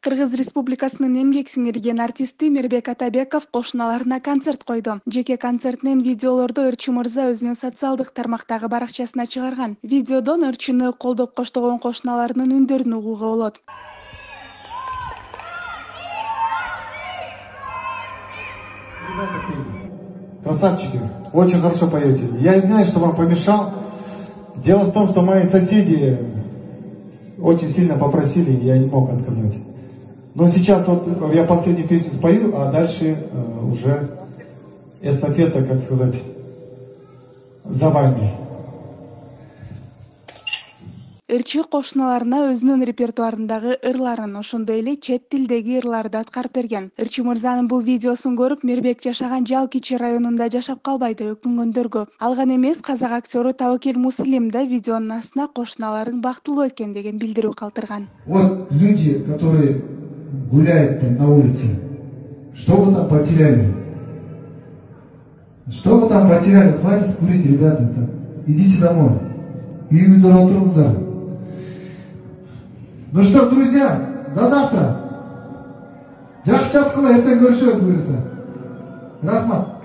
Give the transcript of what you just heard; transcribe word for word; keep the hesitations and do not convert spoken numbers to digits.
Кыргыз Республикасынын эмгек сиңирген артисти Мирбек Атабеков кошуналарына концерт койду. Жеке концертинин видеолорду Ырчы мырза өзүнүн социалдык тармактагы баракчасына чыгарган. Видеодон Ырчыны колдоп коштогон кошуналарынын үндөрүн угууга болот. Красавчики, очень хорошо поете. Я извиняюсь, что вам помешал. Дело в том, что мои соседи очень сильно попросили, я не мог отказать. Но сейчас вот я последнюю песню спою, а дальше э, уже эстафета, как сказать, за вами. Ырчы кошуналарына өзүнүн репертуарындагы ырларын, ошондой эле чет тилдеги ырларды аткарып берген. Ырчы мырзанын бул видеосун көрүп, Мирбек жашаган Жалкичи районунда жашап калбай деп өкүнгөндөр көп. Ал гана эмес, казак актеру Табакел Муслим да видеонун астына кошуналарың бактылуу экен деген билдирүү калтырган. Вот люди, которые гуляют там на улице, что вы там потеряли? Что вы там потеряли? Хватит курить, ребята, там. Идите домой. Үйүңүздө отуруңуздар. Ну что ж, друзья, до завтра. Жакшы жаткыла, эртең көрүшөбүз буюрса. Рахмат.